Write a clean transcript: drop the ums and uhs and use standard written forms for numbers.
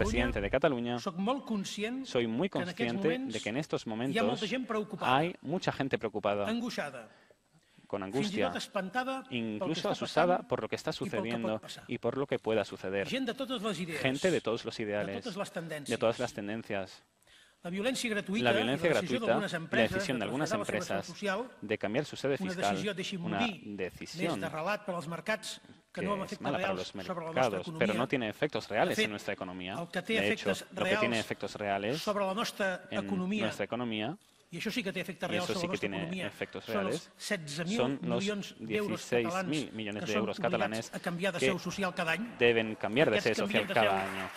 presidente de Cataluña, soy muy consciente de que en estos momentos hay mucha gente preocupada, con angustia, incluso asustada por lo que está sucediendo y por lo que pueda suceder. Gente de todos los ideales, de todas las tendencias. La violencia gratuïta y la decisión de algunas empresas de cambiar su sede fiscal, una decisión que es mala para los mercados, pero no tiene efectos reales en nuestra economía. De hecho, lo que tiene efectos reales en nuestra economía, y eso sí que tiene efectos reales, son los 16.000 millones de euros catalanes que deben cambiar de sede social cada año.